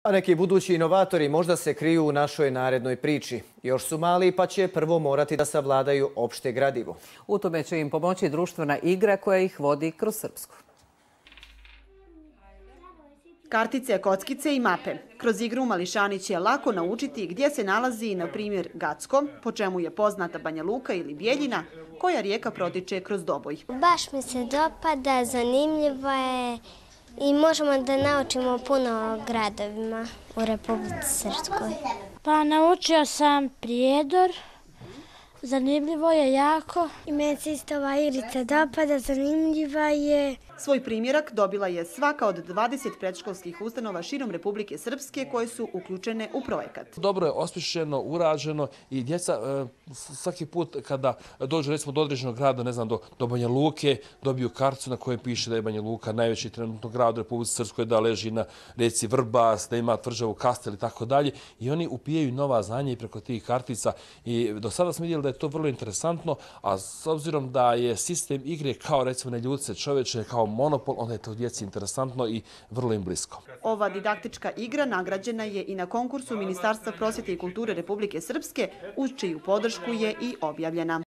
A neki budući inovatori možda se kriju u našoj narednoj priči. Još su mali pa će prvo morati da savladaju opšte gradivo. U tome će im pomoći društvena igra koja ih vodi kroz Srpsku. Kartice, kockice i mape. Kroz igru mališani će lako naučiti gdje se nalazi, na primjer, Gacko, po čemu je poznata Banja Luka ili Bijeljina, koja rijeka protiče kroz Doboj. Baš mi se dopada, zanimljivo je i možemo da naučimo puno o gradovima u Republici Srpskoj. Pa naučio sam Prijedor, zanimljivo je jako. I meni se isto ova igrica dopada, zanimljiva je. Svoj primjerak dobila je svaka od 20 predškolskih ustanova širom Republike Srpske koje su uključene u projekat. Dobro je osmišljeno, urađeno i djeca svaki put kada dođu recimo do određenog grada, ne znam, do Banja Luke, dobiju karticu na kojoj piše da je Banja Luka najveći trenutno grad u Republici Srpskoj, da leži na rijeci Vrbas, da ima tvrđavu Kastel i tako dalje. I oni upijaju nova znanja i preko tih kartica. I do sada smo vidjeli da je to vrlo interesantno, a s obzirom da je sistem igre kao recimo na ljudce čoveče, kao monopol, onda je to djeci interesantno i vrlo im blisko. Ova didaktička igra nagrađena je i na konkursu Ministarstva prosvjete i kulture Republike Srpske, uz čiju podršku je i objavljena.